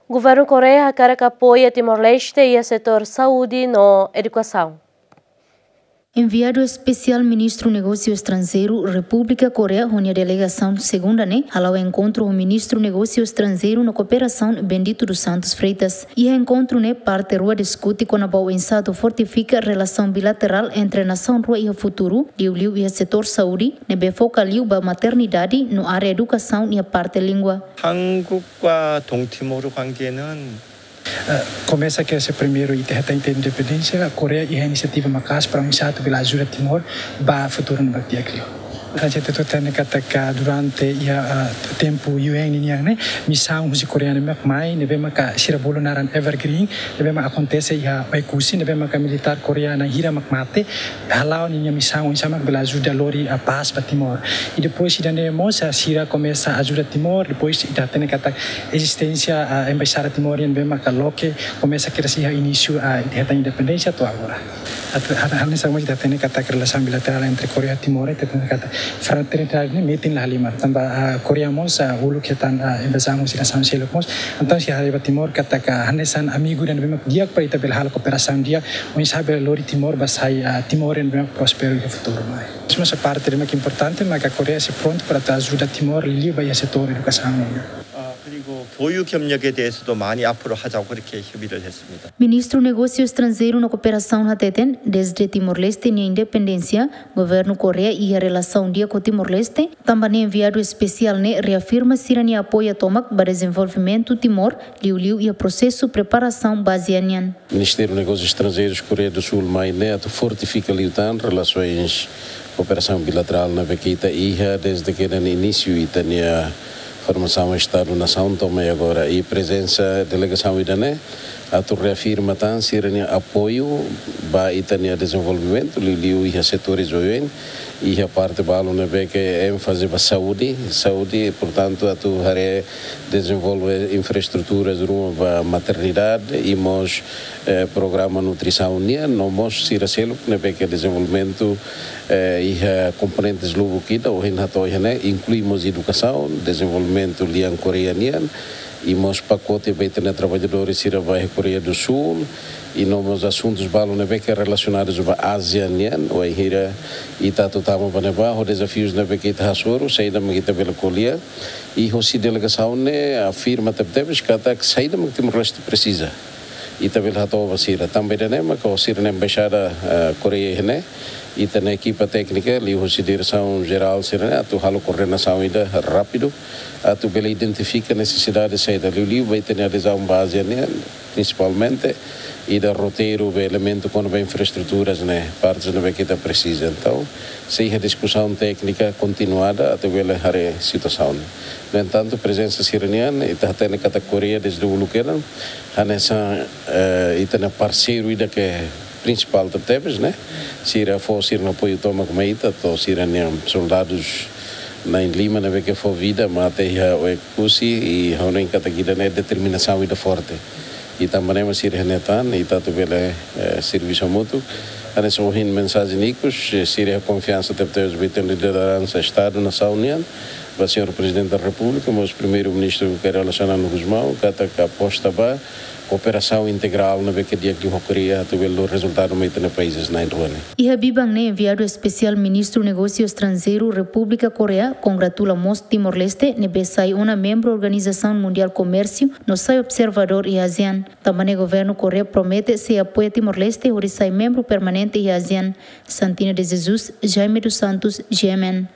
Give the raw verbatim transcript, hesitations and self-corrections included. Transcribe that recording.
Governu Koreia hakarak apoia Timor-Leste iha setór saúde no edukasaun. Enviadu Espesiál Ministru Negósiu Estranjeiru Repúblika Koreia ho nia delegasaun segunda ne'e hala'o enkontru ho Ministru Negósiu Estranjeiru no Kooperasaun Bendito dos Santos Freitas. Iha enkontru ne'e parte rua diskute kona-ba oinsá atu fortifika relasaun bilaterál entre nasaun rua iha futuru, liuliu iha setór saúde, ne'ebé foka liu ba maternidade no área edukasaun iha parte língua. 한국과 동티모르 관계는 Eh, komesa ke se primeiru ita hetan ita independénsia, Koreia iha inisiativa maka'as para oinsá atu bele ajuda Timor ba futuru ne'ebé di'ak liu. Entaun ita hatene katak durante iha, eh, tempu U N nian ne'e, misaun husi Koreia ne'e mak mai, ne'ebé maka sira bolu naran Evergreen, ne'ebé mak akontese iha Oekusi, ne'ebé maka militár Koreia na'in hira mak mate, hala'o ninia misaun oinsá mak bele ajuda lori, eh, pás ba Timor. I depois ida-ne'e mós, eh, sira komesa ajuda Timor, depois ita hatene katak ezisténsia, eh, embaixada Timor nian ne'ebé maka loke, komesa kedas iha inísiu, eh, ita hetan independénsia to'o agora. Atu, ha-, hanesan mós ita hatene katak relasaun bilaterál entre Koreia Timor, ita hatene katak fraternidade ne'e metin la halimar. Tanba, eh, Koreia mós, eh, uluk hetan, eh, invazaun husi nasaun seluk mós. Entaun sira haree ba Timor katak hanesan amigu ida ne'ebé mak di'ak para ita bele halo kooperasaun di'ak, oinsá bele lori Timor ba sai, eh, Timor ne'ebé mak prósperu iha futuru mai. Mesmu esa parte ida mak importante, maka Koreia sei prontu para atu ajuda Timor liuliu ba iha setór edukasaun nian. 아, 그리고 교육 협력에 대해서도 많이 앞으로 하자고 그렇게 협의를 했습니다. Ministru Negósiu Estranjeiru no Kooperasaun hateten, dezde Timor-Leste nia independénsia, Governu Koreia iha relasaun di'ak ho Timor-Leste, tanba ne'e enviadu espesiál ne'e reafirma sira-nia apoiu tomak ba dezenvolvimentu Timor, liuliu iha prosesu preparasaun ba ASEAN nian. Ministériu Negósius Estranjeirus Koreia do Sul mai ne'e atu fortifika liután relasoens kooperasaun bilaterál ne'ebé ke ita iha dezde ke inísiu ita-nia formasaun Estadu-nasaun to'o mai agora. I prezensa delegasaun ida-ne'e atu reafirma tan sira-nia apoiu ba ita-nia dezenvolvimentu, liuliu iha setores oioin, iha parte balu ne'ebé ke énfaze ba saúde, saúde, portantu, atu haree dezenvolve infraestruturas ruma ba maternidade i mós, eh, programa nutrisaun nian, no mós sira seluk ne'ebé ke dezenvolvimentu, eh, iha komponentes lubuk ida, ohin hato'o iha ne'e, inklui mós edukasaun, dezenvolvimentu lian Koreia nian, i mós pakote ba ita-nia traballadores sira ba iha Koreia do Sul, i no mós asuntus balu ne'ebé ke relasionadus ba ASEAN nian, wainhira ita atu tama ba ne'ebá, ho dezafius ne'ebé ke ita hasoru, saida mak ita bele ko'alia, i hosi delegasaun ne'e afirma tebetebes katak saida mak Timor-Leste presiza. Ita bele hato'o ba sira. Tanba ida-ne'e maka ho sira-nia embaixada, eh, Koreia iha ne'e, ita-nia ekipa téknika, liuhosi diresaun jerál sira-ne'e, atu halo koordenasaun ida rápidu, atu bele identifika nesesidade saida liuliu ba ita-nia adezaun ba ASEAN nian, prinsipalmente, ida roteiru ba elementu kona-ba infraestruturas ne'e, partes ne'ebé ke ita presiza. Entaun, sei iha diskusaun téknika kontinuada atu bele haree situasaun. No entantu, prezensa sira-nian, ita hatene katak Koreia dezde uluk kedan, hanesan, eh, ita-nia parseiru ida ke prinsipál tebetebes, ne'e? Sira fó sira-nia apoiu tomak mai ita, to'o sira-nia soldadus na'in-lima ne'ebé ke fó vida mate iha Oekusi, i ha'u hanoin katak ida-ne'e determinasaun ida forte. I tanba ne'e mak sira iha ne'e tan, ita atu bele, eh, servisu hamutuk. Hanesan ohin mensajen ikus, eh, sira iha konfiansa tebetebes ba ita-nia lideransa Estadu-nasaun nian, ba señór Prezidente da Repúblika, mós Primeiru-Ministru Kay Rala Xanana Gusmão, katak aposta ba kooperasaun integrál ne'ebé ke di'ak liu ho Koreia atu bele lori rezultadu mai ita-nia países na'in-rua ne'e. Iha biban ne'e enviadu espesiál Ministru Negósiu Estranjeiru Repúblika Koreia kongratula mós Timor-Leste ne'ebé sai ona membru Organizasaun Mundiál Komérsiu no sai observadór iha ASEAN. Tanba ne'e Governu Koreia promete sei apoia Timor-Leste hodi sai membru permanente iha ASEAN. Santina de Jesus, Jaime dos Santos, G M N.